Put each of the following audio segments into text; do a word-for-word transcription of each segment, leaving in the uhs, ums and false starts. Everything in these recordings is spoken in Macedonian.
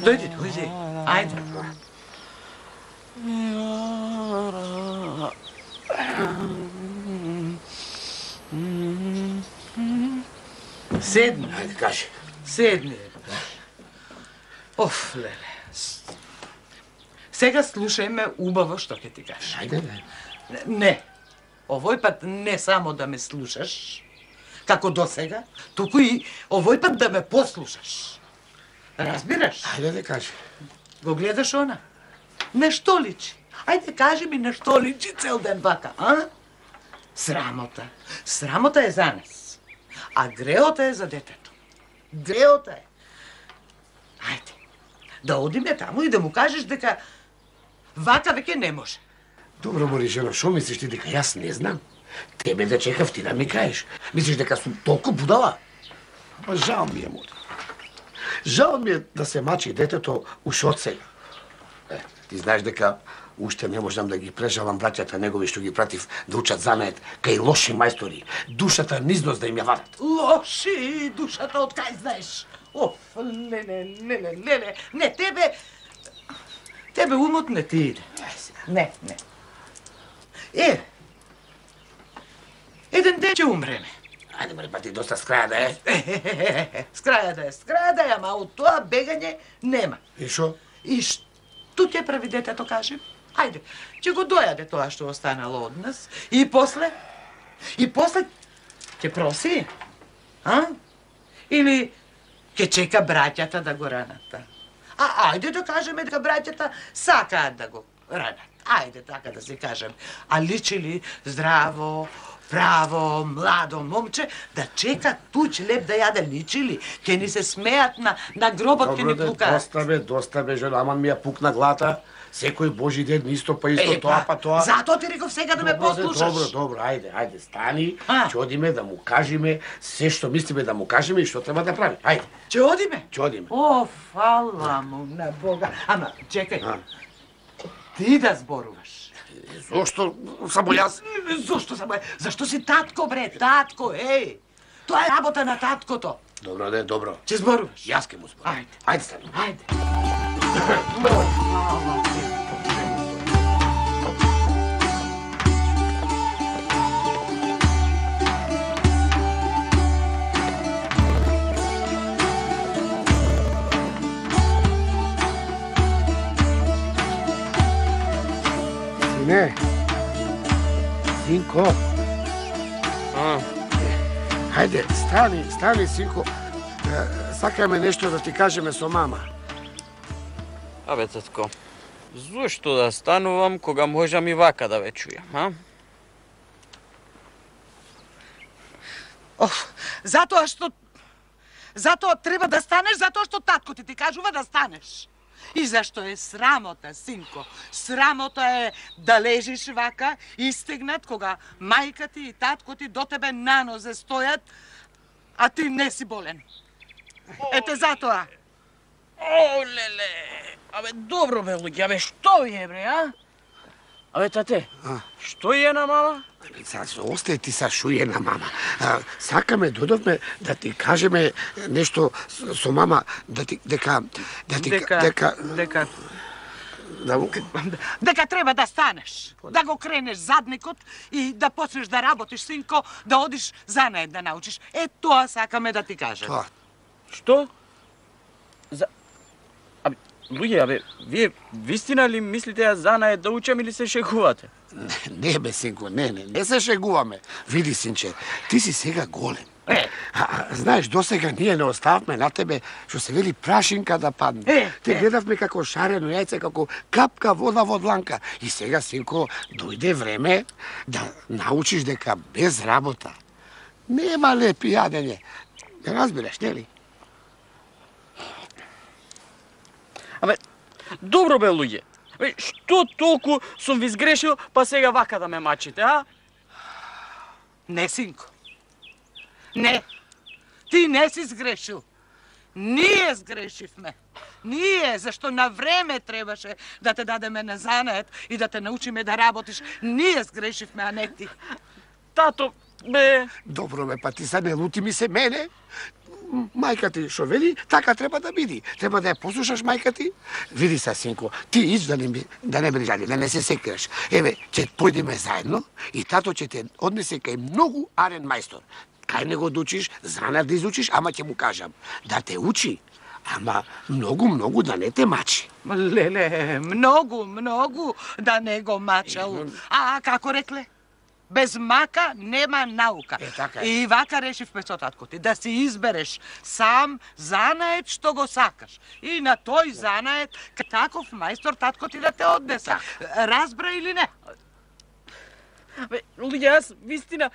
Дојди, дојди. Ајде. Седни. Ајде, кажи. Седни. Оф, леле. Сега слушај ме убаво што ќе ти кажам. Ајде, бе. Не. Овој пат не само да ме слушаш, како досега, туку и овој пат да ме послушаш. Разбираш? Ајде да кажи. Го гледаш она? Нешто личи. Ајде кажи ми нешто личи цел ден вака, а? Срамота. Срамота е за нас. А греота е за детето. Греота е. Ајде. Да одиме таму и да му кажеш дека вака веќе не може. Добро, Боришено, шо мислиш ти дека јас не знам? Тебе да чекав ти да ми кажеш. Мислиш дека сум толку будала? Па жал ми е, моли. Жал ми е да се мачи детето уш од сега. Е, ти знаеш дека уште не можам да ги прежалам браќата негови што ги пратив да учат занает кај лоши мајстори. Душата низнос да им ја вадат. Лоши душата од кај знаеш? Оф, леле, леле, леле. Не, тебе... Тебе умот не ти иде. Не, не. Е, еден ден ќе умреме. Ајде, бре, па ти доста скраја да е. Скраја да е, скраја да е, ама од тоа бегање нема. И шо? И што ќе прави детето, кажем? Ајде, ќе го дојаде тоа што останало од нас. И после? И после ќе проси? А? Или ќе чека браќата да го ранат? А ајде да кажеме дека браќата сакаат да го ранат. Ајде така да се кажем. А личи ли здраво, право, младо момче да чека туч леп да јаде, личи ли? Ке ни се смеат на, на гробот, ке ни Добро, пукаат. доста бе, доста бе, жена, аман ми ја пукна глата. Секој Божи ден исто па исто, Е, тоа па тоа. Затоа ти реков сега да ме Добро, бе, послушаш. Добро, добро, ајде, ајде, стани, А? ќе одиме да му кажеме се што мислиме да му кажеме и што треба да прави. Ајде, Ќе одиме? ќе одиме. О, фала му на Бога. Ама, чекај. А? Ти да зборуваш. Зошто само јас? Зошто само е? Зашто си татко, бре, татко, еј. Тоа е работа на таткото. Добро, де, добро. Ќе зборуваш? Јас ќе му зборам. Ајде. Ајде, стани. Ајде. Фала ти. Сине, синко. А, Хајде, стани, стани, синко. Е, Сакаме нешто да ти кажеме со мама. абе, татко, Зошто да станувам кога можам и вака да ве чујам, а? Оф, затоа што... Затоа треба да станеш, затоа што татко ти ти кажува да станеш. И зашто е срамота, синко. Срамота е да лежиш вака, истегнат, кога мајка ти и татко ти до тебе на нозе стојат, а ти не си болен. Ете затоа. О, леле! Абе, добро бе, луѓе, абе, што ви е, бре, а? Абе, тате, А? што е на мама? Са, остај ти са шујена мама. А, сакаме, додовме да ти кажеме нешто со, со мама, да ти, дека... Да ти, Дека... дека... Дека... Да, му- Дека треба да станеш, да го кренеш задникот и да почнеш да работиш, синко, да одиш занает да научиш. Е, тоа сакаме да ти кажем. тоа. Што? За... Абе, луѓе, абе, вие вистина ли мислите ја занае да учам или се шегувате? Не, не бе, синко, не, не, не се шегуваме. Види, синче, ти си сега голем. Е. А, а, знаеш, досега ние не остававме на тебе, што се вели прашинка да падне. Е, Те е. гледавме како шарено јајце, како капка вода во дланка. И сега, синко, дојде време да научиш дека без работа нема лепи јадење. Не разбираш, нели? Абе, добро бе, луѓе. Абе, што толку сум ви сгрешил, па сега вака да ме мачите, а? Не, синко. Не. Ти не си сгрешил. Ние сгрешивме. Ние, зашто на време требаше да те дадеме на занает и да те научиме да работиш. Ние сгрешивме, а не ти. Тато, бе... Добро бе, па ти са не лути ми се мене. М, Мајка ти што вели, така треба да биди. Треба да ја послушаш мајка ти. Види се, синко, ти ич да не, ми- да не брижали, да не се секираш. Еве, ќе појдеме заедно и тато ќе те однесе кај многу арен мајстор. Кај него да учиш, занат да изучиш, ама ќе му кажам, да те учи, ама многу, многу да не те мачи. Леле, многу, многу да не го мачал. А како рекле? Без мака нема наука. Е, така е. И вака решивме со татко ти, да си избереш сам занает што го сакаш. И на тој занает, таков мајстор татко ти да те однесе. Разбра или не? Бе, луѓе, јас вистина...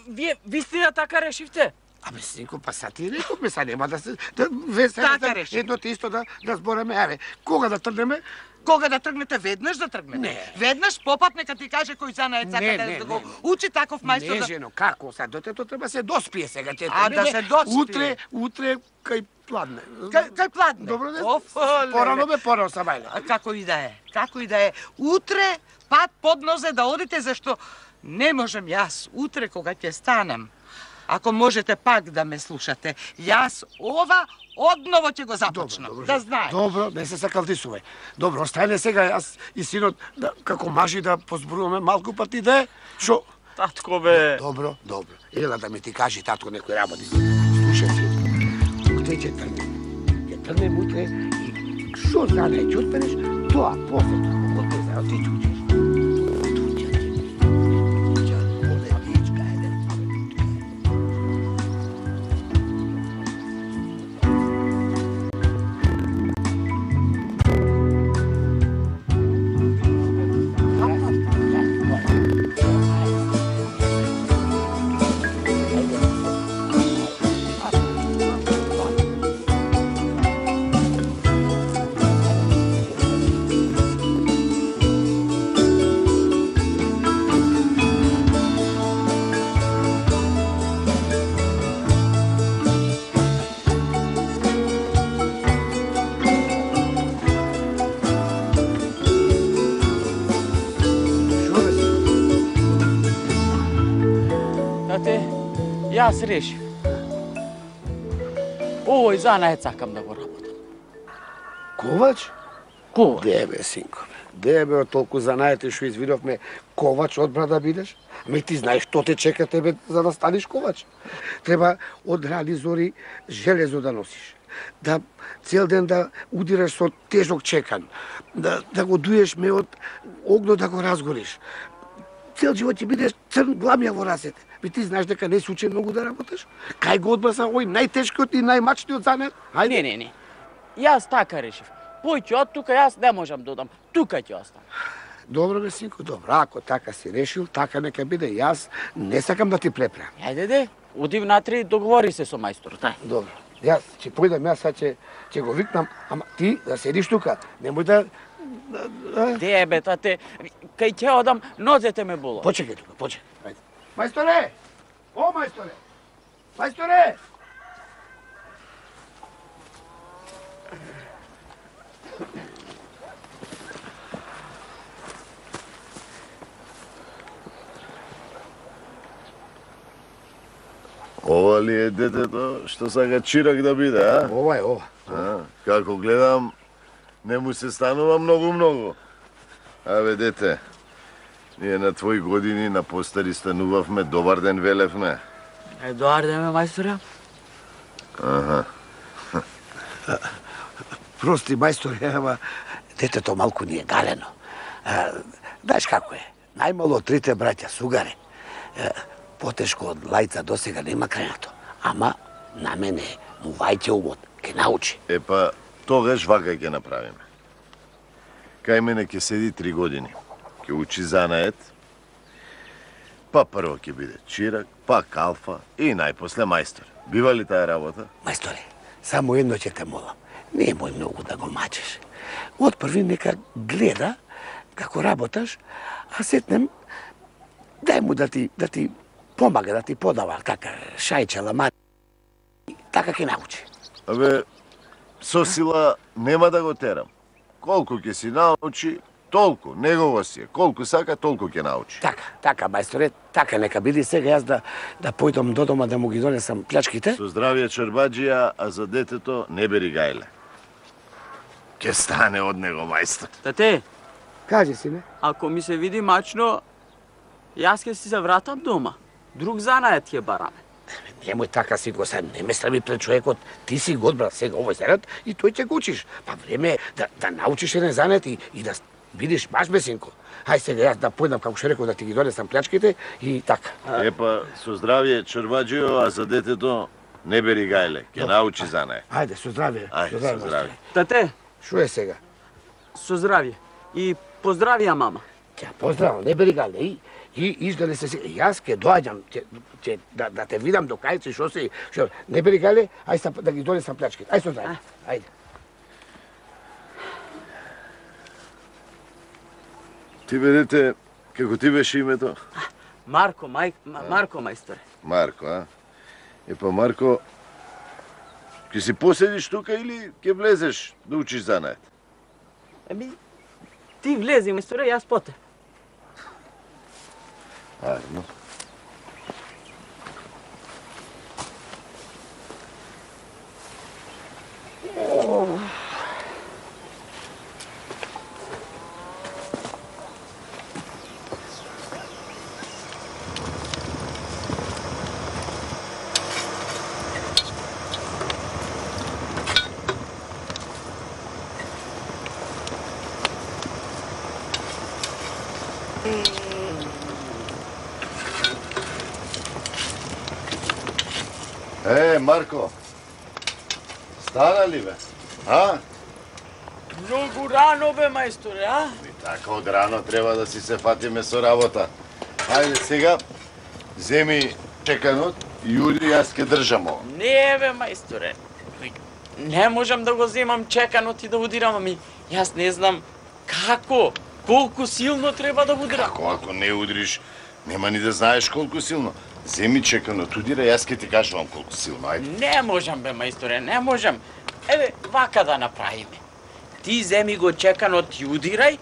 Вие вистина така решивте? Абе, синко, па са ти рековме, са нема да се... Да, ве, сега Така да, реши. едно те исто да, да збореме, еве, кога да тргнеме? Кога да тргнете, веднаш да тргнете. Не. Веднаш попат нека ти каже кој занает сака Не, да, не, да го не. учи таков мајстор. Не, да... жено, како са? Детето треба се доспие сега. Те А, да се доспие. Утре, утре, кај пладне. Кај, кај пладне? Добро, не? Оф, леле. Порано бе, порано са бајле. А како и да е, како и да е. Утре пат под нозе да одите, зашто не можем јас утре кога ќе станам. Ако можете пак да ме слушате, јас ова одново ќе го започнам. добро. Да знаеш. Добро, не се сакалтисувај. Добро, остајне сега јас и синот да, како мажи да позборуваме малку па ти да е. Шо? Татко, бе... Добро, добро. Ела да ми ти кажи татко некој работи. Слушај си. Утре ќе тргнем. Ќе тргнем утре и шо знае ќе отпенеш, тоа после како го те ти ќе учиш. Тате, јас решив. Овој занает сакам да го работам. Ковач? Ковач? Де бе, синко, бе. Де бе, од толку занаети што извидовме, ковач одбра да бидеш? Ме ти знаеш што те чека тебе за да станеш ковач. Треба од рани зори железо да носиш. Да цел ден да удираш со тежок чекан. Да, да го дуеш меот огно да го разгориш. Цел живот ќе бидеш црн гламја во рацете. Ме ти знаеш дека не се учи многу да работиш? Кај го одбраса овој најтешкиот и најмачниот занет? Ајде. Не, не, не. Јас така решив. Појќе од тука, јас не можам да одам. тука ќе остане. Добро бе, синко, добро. Ако така си решил, така нека биде. Јас не сакам да ти препрам. Ајде де, оди внатре и договори се со мајсторот, ај. Добро. Јас ќе појдам, јас сега ќе ќе го викнам, ама ти да седиш тука, немој да... Де бе, тате, кај ќе одам, нозете ме болат. Почекај тука, почекај. Ајде. Мајсторе! О, мајсторе! Мајсторе! Ова ли е детето што сака чирак да биде, а? Ова е, ова. А, како гледам, не му се станува многу-многу. Абе, дете, ние на твои години на постари станувавме, добар ден велевме. Е, добар ден, мајсторе. Аха. Прости, мајсторе, ама детето малку ни е галено. А, знаеш како е? Најмало од трите браќа сугаре. А, потешко од лајца досега нема крајното. Ама на мене му вајќе умот, ке научи. Е па, тогаш вака ќе направиме. Кај мене ќе седи три години. Ќе учи занаед. Па прво ќе биде чирак, па калфа и најпосле мајстор. Бива ли таа работа? Мајсторе, само едно ќе те молам. Немој многу да го мачеш. Од први нека гледа како работаш, а сетнем дај му да ти да ти помага, да ти подава така шајче, ламани. Така ќе научи. Абе, со сила нема да го терам. Колку ќе си научи, толку, негово си е. Колку сака, толку ќе научи. Така, така, мајсторе, така нека биде. Сега јас да да појдам до дома да му ги донесам плячките. Со здравје чорбаџија, а за детето не бери гајле. Ке стане од него мајстор. Тате, Кажи, сине. ако ми се види мачно, јас ќе си се вратам дома. Друг занаед ќе бараме. Немој така си го се, не ме стави пред човекот. Ти си го одбрал сега овој зарад и тој ќе го учиш. Па време е да, да научиш еден занет и, и да видиш баш бесинко. Хај сега јас да појдам, како што реков, да ти ги донесам плячките и така. Епа, со здравје чорбаџио, а за детето не бери гајле. Ке научи занае. Ајде, со здравје. Ајде, со здравје. Тате, Шо е сега? со здравје. И поздравија мама. Ќе поздравам, не бери гале. И, и изгледа се сега. Јас ќе доаѓам, ќе, ќе да, да те видам до кај си, шо си, шо. Не бери гале, ај са, да ги донесам плячките. Ај со здравје. Ајде. Ти бе, дете, како ти беше името? Марко, мај, Марко мајсторе. Марко, а? Епа, Марко, ќе си поседиш тука или ќе влезеш да учиш занает? Еми, ти влези мајсторе, јас поте. Ајде, ну. Е, Марко, стана ли бе? А? Многу рано бе, мајсторе, а? И така од рано треба да си се фатиме со работа. Ајде сега, земи чеканот и уди, јас ке држам ова. Не бе, мајсторе. Не можам да го земам чеканот и да удирам, ами јас не знам како, колку силно треба да удирам. Како ако не удриш, нема ни да знаеш колку силно. Земи чеканот, удира, јас ке ти кажувам колку силно, ајде. Не можам бе, мајсторе, не можам. Еве, вака да направиме. Ти земи го чеканот и удирај,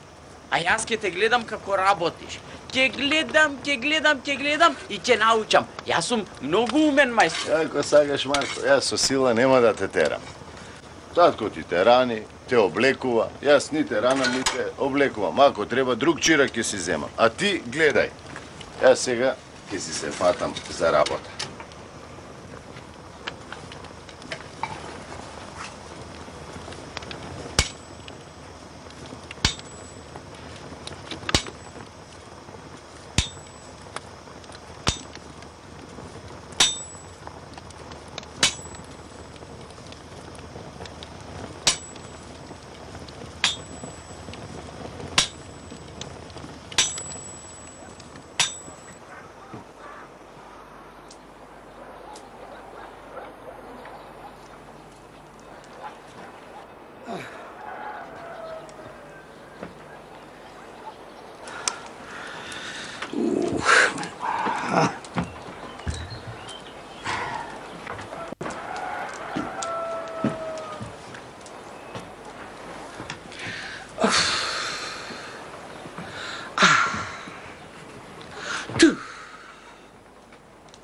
а јас ке те гледам како работиш. Ке гледам, ке гледам, ке гледам и ќе научам. Јас сум многу умен мајстор. Ако сакаш, Марко, јас со сила нема да те терам. Татко ти те рани, те облекува, јас ни те ранам, ни те облекувам. Ако треба, друг чирак ќе си земам. А ти гледај. Јас сега ќе си се фатам за работа.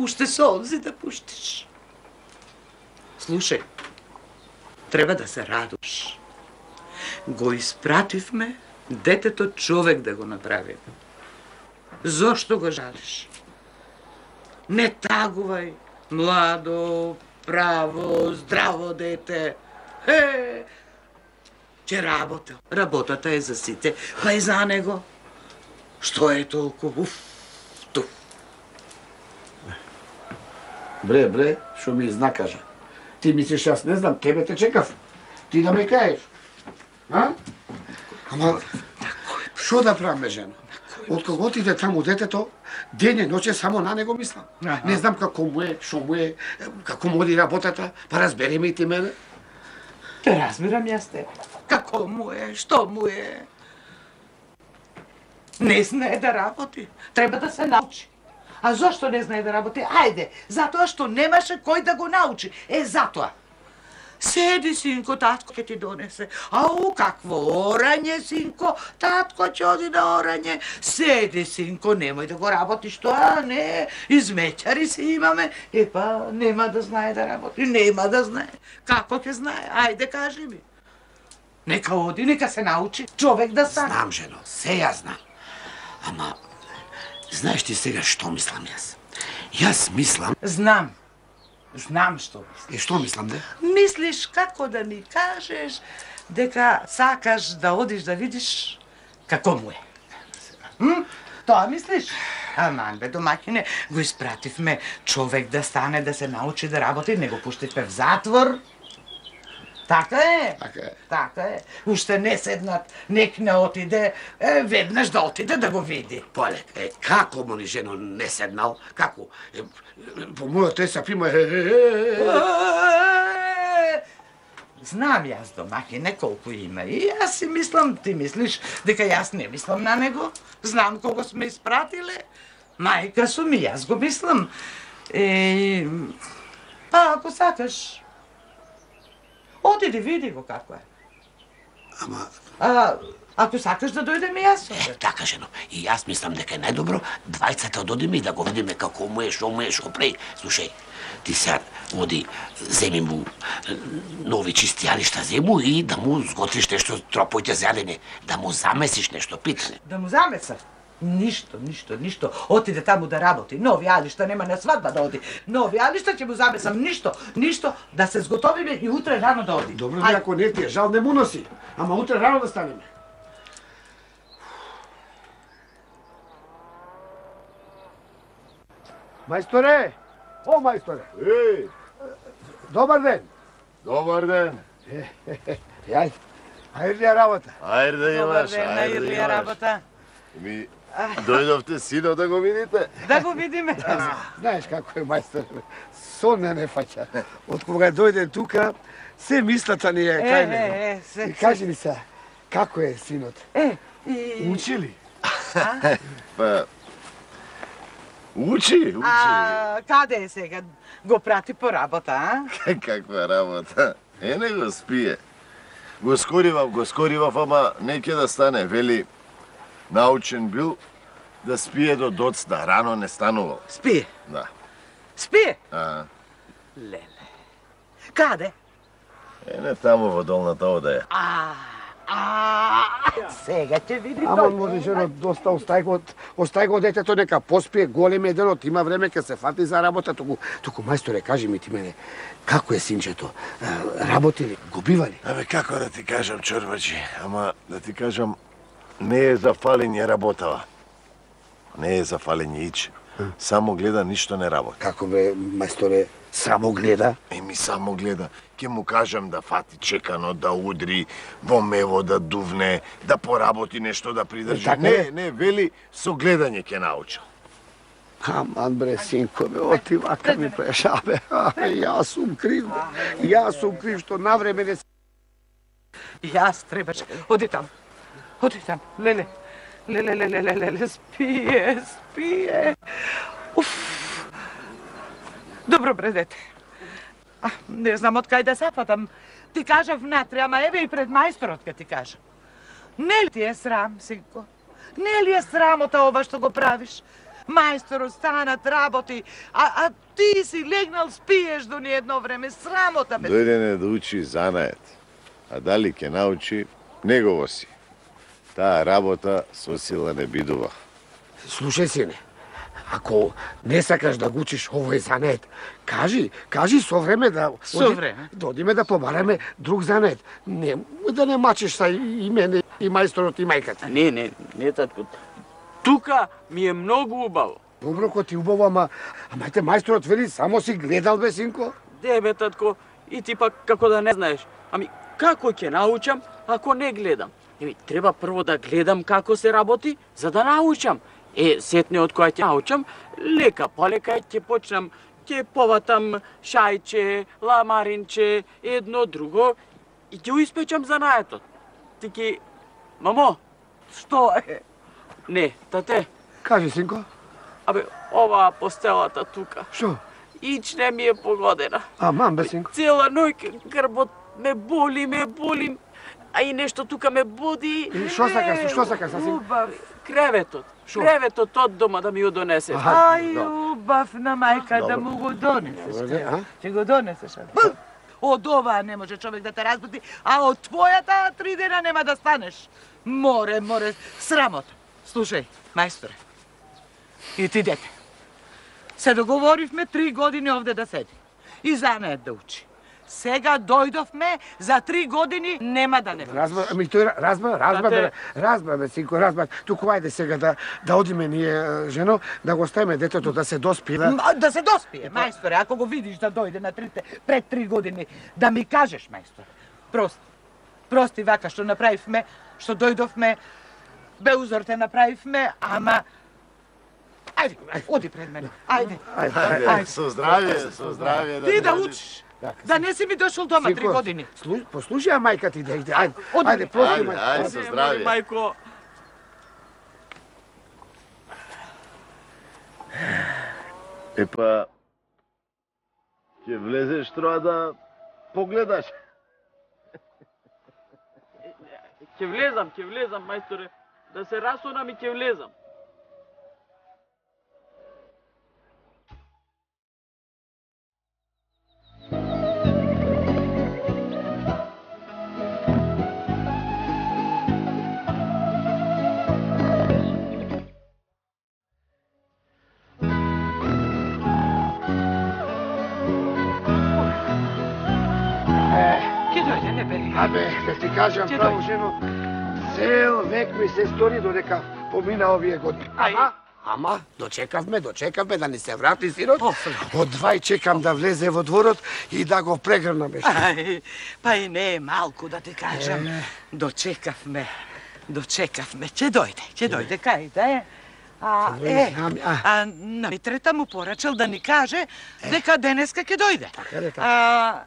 уште солзи да пуштиш. Слушај, треба да се радуш. Го испративме детето човек да го направи. Зошто го жалиш? Не тагувај, младо, право, здраво дете. Е, че работа. Работата е за сите, па и за него. Што е толку? Уф, туф. Бре, бре, шо ми изнакажа. Ти мислиш, јас не знам, тебе те чекав. Ти да ме каеш. А? Ама, шо да правиме, жено? Од кога отиде таму детето, ден и ноќе само на него мислам. Не знам како му е, шо му е, како му оди работата, па разбери ме и ти мене. Те разбирам јас те. Како му е, што му е. Не знае да работи. Треба да се научи. А зошто не знае да работи? Ајде, затоа што немаше кој да го научи. Е, затоа. Седи, синко, татко ќе ти донесе. Ау, какво орање, синко, татко ќе оди да орање. Седи, синко, немој да го работиш тоа, не, измеќари си имаме. Епа, нема да знае да работи, нема да знае. Како ќе знае? Ајде, кажи ми. Нека оди, нека се научи, човек да стане. Знам, жено, се ја знам. Ама, знаеш ти сега што мислам јас? Јас мислам... Знам. Знам што мислиш. Е, што мислам, де? Мислиш како да ми кажеш дека сакаш да одиш да видиш како му е. М? Тоа мислиш? Аман бе, домаќине, го испративме човек да стане, да се научи да работи, не го пуштивме в затвор. Така е. Така е. Така е. Уште не седнат, нек не отиде, е, веднаш да отиде да го види. Поле, е, како му ни жено не седнал? Како? Е, по мојот есап има... Е, е, е, е. Знам јас домаќине колку има и јас си мислам, ти мислиш дека јас не мислам на него. Знам кого сме испратиле. Мајка сум и јас го мислам. Е, па ако сакаш, отиди, види го како е. Ама... А, ако сакаш да дојдем и јас. Е, така, жено. И јас мислам дека е најдобро двајцата да одиме и да го видиме како му е, шо му е, шо преј. Слушај, ти сега оди, земи му нови чисти јалишта, зему и да му сготвиш нешто тропојте за јадење, да му замесиш нешто питане. Да му замеса? Ништо, ништо, ништо. Отиде таму да работи. Нови алишта, нема на свадба да оди. Нови алишта ќе му замесам. Ништо, ништо. Да се сготовиме и утре рано да оди. Добро, не, ако не ти е жал, не му носи. Ама утре рано да станеме. Мајсторе! О, мајсторе! Еј! Добар ден! Добар ден! Јај, ајрлија работа. Ајде да имаш, Добар ден, ајде да најрлија имаш. работа. Ми, дојдовте сино да го видите? Да го видиме. Знаеш како е мајсторе, сон не не фаќа. Од кога дојде тука, се мислата ни е кај него. Е, е, се. И кажи ми се, како е синот? Е, и... Учи ли? Па, учи, учи. А, каде е сега? Го прати по работа, а? Каква работа? Е, не го спие. Го скоривав, го скоривав, ама не ќе да стане. Вели, научен бил да спие до доцна, рано не станувал. Спие. Да. Спие? А, Леле. Каде? е, не таму во долната одаја. А, а, сега ќе види Ама тој. може жено доста остај го, остај го детето нека поспие, голем е денот, има време ке се фати за работа, туку, туку мајсторе, кажи ми ти мене, како е синчето? А, работи ли? Го бива ли? Абе, како да ти кажам, чорбачи, ама да ти кажам, не е за фалење работава. Не е за фалење ич. Само гледа, ништо не работи. Како бе, мајсторе, само гледа? Еми, само гледа. Ке му кажам да фати чекано, да удри, во мево да дувне, да поработи нешто, да придржи. Така Не, е. не, вели, со гледање ке научил. Аман бре, синко, бе, оти вака ми преша, бе. Абе, јас сум крив, бе. Јас сум крив што навреме не... Јас требаш. Оди там. Оди там. Леле. Леле, леле, леле, леле, спие, спие. Уф. Добро бре, дете. А, не знам од кај да сафатам. Ти кажав внатре, ама еве и пред мајсторот ке ти кажам. Не ли ти е срам, синко? Не ли е срамота ова што го правиш? Мајсторот станат работи, а, а ти си легнал, спиеш до ни едно време, срамота бе. Дојдене да учи занает, а дали ќе научи, негово си. Таа работа со сила не бидува. Слушај, сине, ако не сакаш да го учиш овој занет, кажи, кажи со време да... Со време? Да одиме да побараме друг занет. Не, да не мачиш са и мене, и мајсторот, и мајката. Не, не, не, татко. Тука ми е многу убаво. Добро, ко ти убаво, ама... Ама те мајсторот вели, само си гледал, бе, синко? Де, бе, татко, и ти пак како да не знаеш. Ами, како ќе научам ако не гледам? Еми, треба прво да гледам како се работи, за да научам. Е, сетне од која ќе научам, лека полека ќе почнам, ќе поватам шајче, ламаринче, едно друго и ќе испечам занаетот. Ти ќе... Мамо! Што е? Не, тате. Кажи, синко. Абе, оваа постелата тука. Што? Ич не ми е погодена. А, мам, бе, синко. Цела ноќ грбот ме боли, ме боли, а и нешто тука ме буди. И што сакаш, што сакаш, синко? Убав. Креветот. Креветот од дома да ми го донесеш. Ај, убав на мајка да му го донесеш. А? Ќе го донесеш. Б! Од оваа не може човек да те разбуди, а од твојата три дена нема да станеш. Море, море, срамота. Слушај, мајсторе, и ти дете, се договоривме три години овде да седи и занает да учи. Сега дојдовме, за три години нема да не. Разбра, ами тој разбра, разбра, бе, разбра, бе, синко, разбра. Туку ајде сега да да одиме ние, жено, да го оставиме детето да се доспие. Да, М, да се доспие, мајсторе, ако го видиш да дојде на трите, пред три години, да ми кажеш, мајсторе. Прости. Прости вака што направивме, што дојдовме, бе узор те направивме, ама... Ајде, оди пред мене, ајде. Ајде, Ајде, со здравје, со здравје. Ти да дојдеш. учиш, да не си ми дошол дома три години. Слуш, послушај мајка ти да иде. Ајде, Оди, ајде, прости Ајде, мајка. ајде, со здравје. Мајко, Епа, ќе влезеш троа да погледаш. ќе влезам, ќе влезам, мајсторе. Да се расунам и ќе влезам. Ке дојде, не бери. Абе, да ти кажам Ќе право, дојде. жено, цел век ми се стори додека помина овие години. Ај. Ама, ама, дочекавме, дочекавме да ни се врати синот. О, Од двај чекам да влезе во дворот и да го прегрнаме. Ај, па и не е малку да ти кажам. Дочекавме, дочекавме. Ќе дојде, ќе дојде, кај да е. А, е, Ами, а. а на Митрета му порачал да ни каже дека денеска ќе дојде. Така ли, така? А,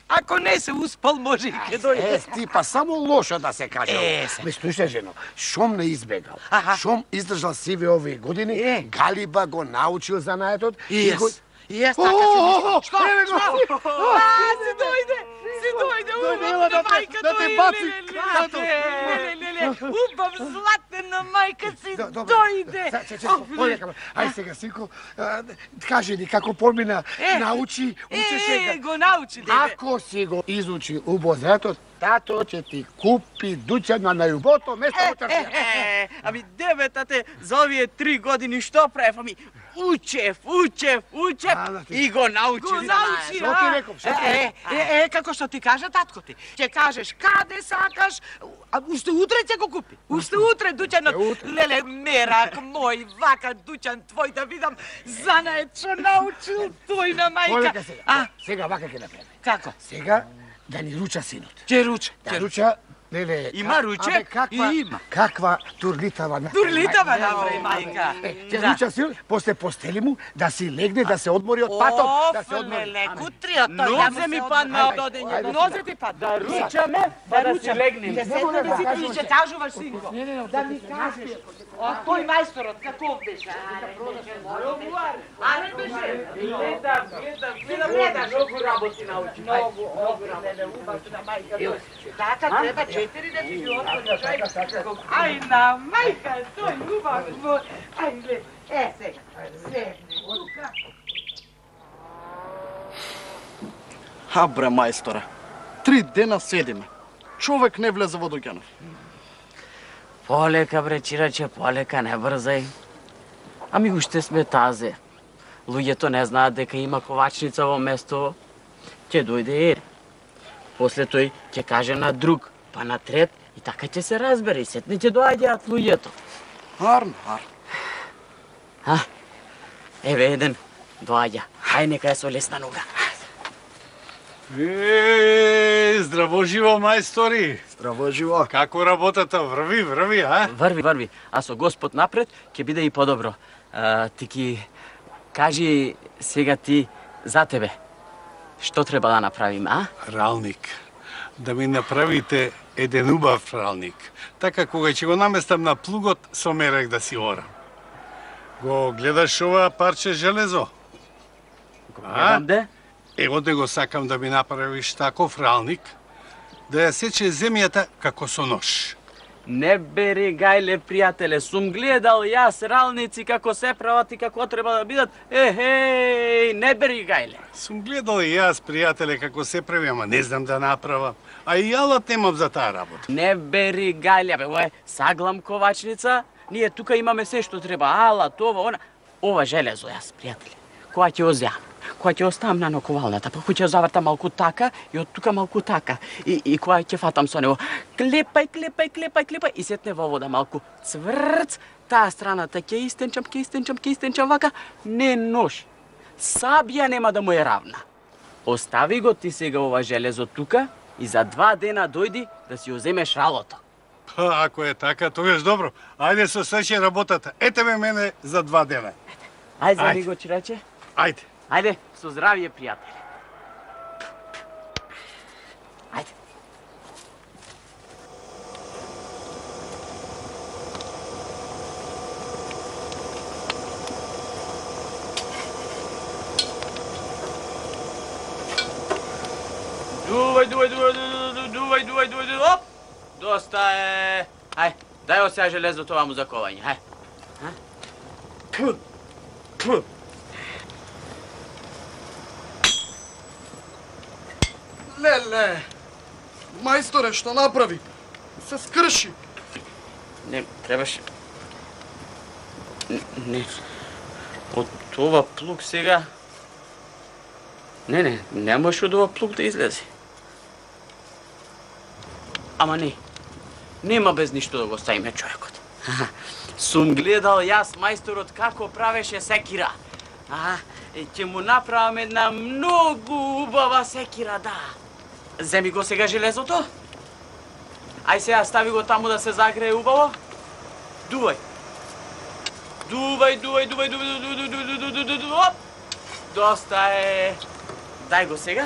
ако не се успал, може и ќе дојде. Е, ти па само лошо да се каже. Е, се. Ме слушај, жено, шом не избегал, Аха. шом издржал сиве овие години, Е. Галиба го научил занаетот И го... јас, и јас О, така си о, мислам. о, Што? еве го. Што? А, си дојде, си дојде, Дојде, ела убав да на те- мајка да те дојде. баци леле, краката. леле, леле, леле, убав златена мајка си Да, добро. дојде. Са, че, че, полека, ај сега, синко, а, кажи ни како помина, Е, научи, учи Е, сега. го научи, деве. Ако си го изучи убозетот, тато ќе ти купи дуќана на јубото место во тршија. Е, ами деве, тате, за овие три години што правев? Ами, учев, учев, учев А, да ти- и го научи. Го научи, Што ти реков, што ти Е, е, е, како што ти кажа татко ти. Ќе кажеш каде сакаш, а уште утре ќе го купи. Уште утре дуќанот. утре. Леле, мерак мој, вака дуќан твој да видам занает што научил твој на мајка. Полека сега. А, Сега вака ќе направиме. како? Сега да ни руча синот. Ќе руче. Да руча, леле, Има ка- руче? абе, каква, Има. Каква турлитава на. Турлитава направи мајка. Е, ќе Да. руча синот, после постели му да си легне, да се одмори од патот, да Оф, се одмори. леле, кутриот тој. да му Нозе ми се падна одмори. од одењето. Нозе ти падна. Да ручаме, па да си легнем. Ќе седнеме сите и ќе кажуваш, синко. Да ми кажеш. А тој мајсторот каков беше? Аре беше. Гледам, гледам, гледам, гледам, многу работи научи. Многу, многу работи. Убав на мајка. Така треба четири да ти ги отвори човек. Ай, на мајка, тој убав во... Ај, глед, е сега, седни тука. Ха, бре, мајсторе, три дена седиме. Човек не влезе во дуќанов. Полека, бре, чираче, полека, не брзај. Ами уште сме тазе. Луѓето не знаат дека има ковачница во место. Ќе дојде ер. После тој ќе каже на друг, па на трет, и така ќе се разбере, и сетне ќе доаѓаат луѓето. Арн, арн. А, еве еден доаѓа. Хај нека е со лесна нога. Е, здраво живо, мајстори. Здраво живо. Како работата? Врви, врви, а? Врви, врви. А со Господ напред ќе биде и подобро. А, ти ки кажи сега ти за тебе. Што треба да направиме, а? Ралник. Да ми направите еден убав ралник. Така кога ќе го наместам на плугот, со мерек да си орам. Го гледаш ова парче железо? Го гледам де? Ево де го сакам да ми направиш таков ралник, да ја сече земјата како со нож. Не бери гајле, пријателе, сум гледал јас ралници како се прават и како треба да бидат. Ехеј, не бери гајле. Сум гледал и јас, пријателе, како се прави, ама не знам да направам. А и јалат немам за таа работа. Не бери гајле, бе, ова е саглам ковачница. Ние тука имаме се што треба, алат, ова, она. Ова железо јас, пријателе, која ќе озјам, која ќе оставам на наковалната, па која ќе завртам малку така и од тука малку така. И, и која ќе фатам со него, клепај, клепај, клепај, клепај и сетне во вода малку цврц, таа страната ќе истенчам, ќе истенчам, ќе истенчам вака, не нож. Сабија нема да му е равна. Остави го ти сега ова железо тука и за два дена дојди да си оземеш ралото. Па, ако е така, тогаш добро. Ајде со свече работата. Ете ме мене за два дена. Ајде, земи го, чираче. Ајде. Ајде, со здравје, пријатели. Ајде. Дувај, дувај, дувај, дувај, дувај, дувај, дувај, оп! Доста е. Ај, дај го сега железото ваму за ковање, ај. Пу, пу. Леле, мајсторе, што направи? Се скрши. Не, требаше... Не, од ова плуг сега... Не, не, не може од ова плуг да излезе. Ама не, нема без ништо да го ставиме човекот. Сум гледал јас мајсторот како правеше секира. А, ќе му направам една многу убава секира, да. Земи го сега железото. Ај сега стави го таму да се загрее убаво. Дувај. Дувај, дувај, дувај, дувај, дувај, дувај, дувај, дувај, дувај, оп! Доста е. Дај го сега.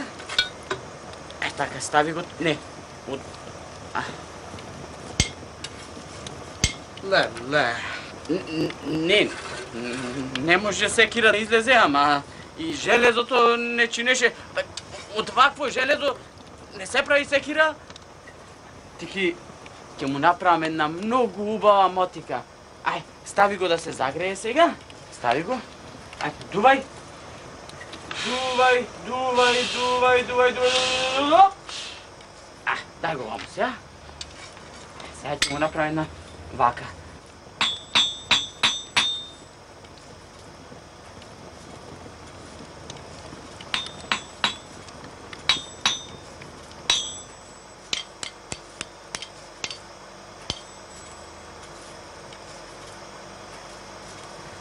Е, така, стави го... Не. Од... А. Леле. Не, не може секира да излезе, ама и железото не чинеше... Од вакво железо не се прави секира. Тики, ќе му направам една многу убава мотика. Ај, стави го да се загрее сега. Стави го. Ај, дувај. Дувај, дувај, дувај, дувај, дувај, дувај. А, дај го ваму сега. Сега ќе му направам една вака.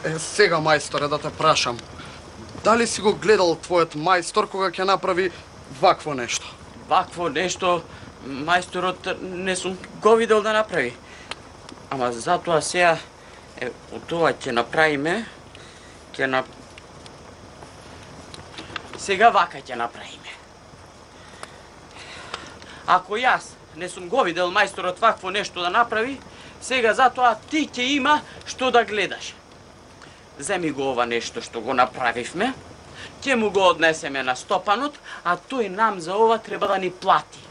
Е, сега, мајсторе, да те прашам. Дали си го гледал твојот мајстор кога ќе направи вакво нешто? Вакво нешто мајсторот не сум го видел да направи. Ама затоа сега е, од тоа ќе направиме, ќе на... Сега вака ќе направиме. Ако јас не сум го видел мајсторот вакво нешто да направи, сега затоа ти ќе има што да гледаш. Земи го ова нешто што го направивме, ќе му го однесеме на стопанот, а тој нам за ова треба да ни плати.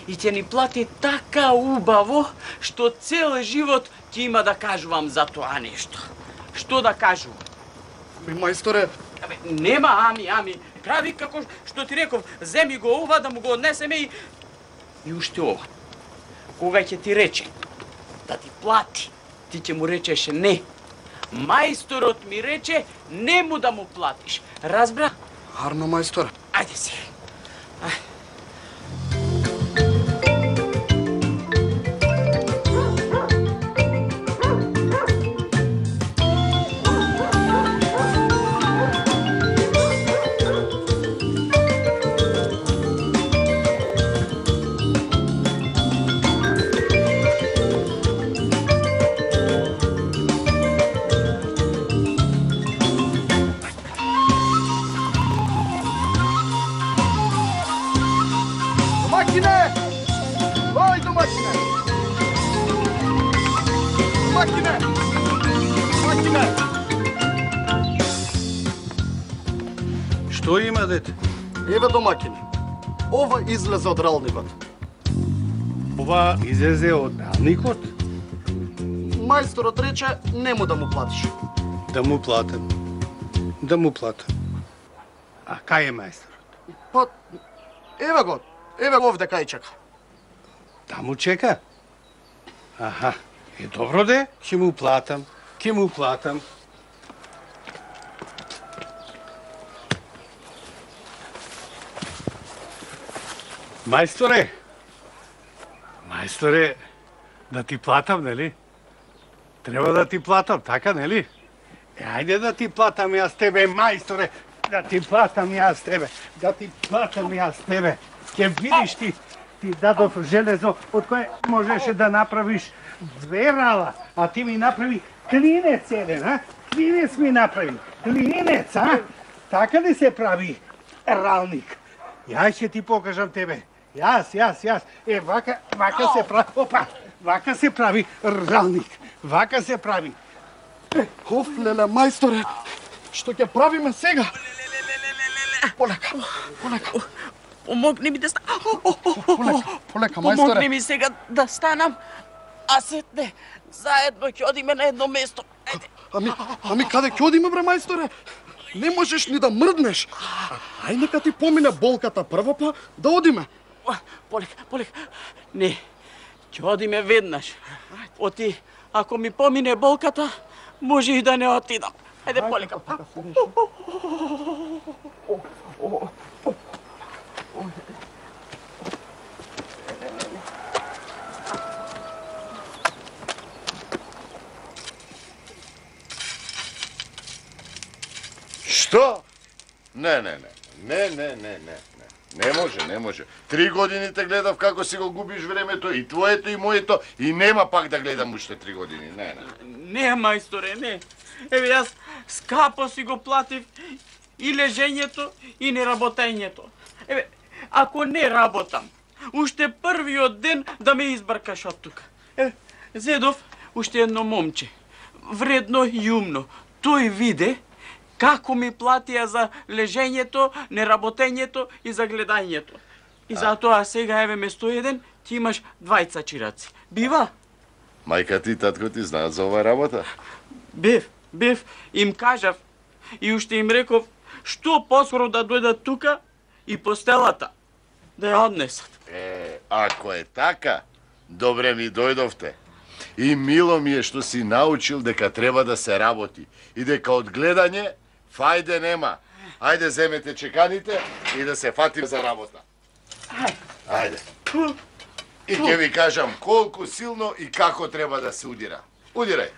и ќе ни плати така убаво, што цел живот ќе има да кажувам за тоа нешто. Што да кажувам? Ми, мајсторе... Абе, нема ами, ами. Прави како што ти реков, земи го ова да му го однесеме и... И уште ова. Кога ќе ти рече да ти плати, ти ќе му речеш не. Мајсторот ми рече нему да му платиш. Разбра? Арно, мајсторе. Ајде си. Ајде. Што има, дете? Еве домакине. Ова излезе од ралникот. Ова излезе од ралникот? Мајсторот рече нему да му платиш. Да му платам. Да му платам. А кај е мајсторот? Па, еве го. Еве го овде кај чека. Таму чека? Аха. Е добро де, ќе му платам. Ќе му платам. Мајсторе, мајсторе, да ти платам, нели? Треба да ти платам, така, нели? Е, ајде да ти платам јас тебе, мајсторе, да ти платам јас тебе, да ти платам јас тебе. Ке видиш ти, ти дадов железо од кое можеше да направиш две рала, а ти ми направи клинец еден, а? Клинец ми направи, клинец, а? Така ли се прави ралник? Јас ќе ти покажам тебе. Јас, јас, јас. Е, вака, вака се прави. Опа, вака се прави ралник. Вака се прави. Оф, леле, мајсторе, што ќе правиме сега? Полека, полека. Помогни ми да станам. Полека, полека, мајсторе. Помогни ми сега да станам, а сетне заедно ќе одиме на едно место. Ајде. Ами, ами каде ќе одиме, бре, мајсторе? Не можеш ни да мрднеш. Ај нека ти помине болката прво, па да одиме. Полека, полека. Не, ќе одиме веднаш. Оти, ако ми помине болката, може и да не отидам. Ајде, полека. Што? Не, не, не. Не, не, не, не, не. Не може, не може. Три години те гледав како си го губиш времето, и твоето, и моето, и нема пак да гледам уште три години. Не, не. Не, мајсторе, не. Еве, јас скапо си го платив и лежењето, и неработењето. Еве, ако не работам, уште првиот ден да ме избркаш од тука. Еве, зедов уште едно момче, вредно и умно. Тој виде како ми платија за лежењето, неработењето и за гледањето. И затоа сега еве место еден, ти имаш двајца чираци. Бива? Мајка ти и татко ти знаат за оваа работа? Бев, бев, им кажав и уште им реков што поскоро да дојдат тука и постелата да ја однесат. Е, ако е така, добре ми дојдовте. И мило ми е што си научил дека треба да се работи и дека од гледање фајде нема. Ајде, земете чеканите и да се фатим за работа. Ајде. И ќе ви кажам колку силно и како треба да се удира. Удирај.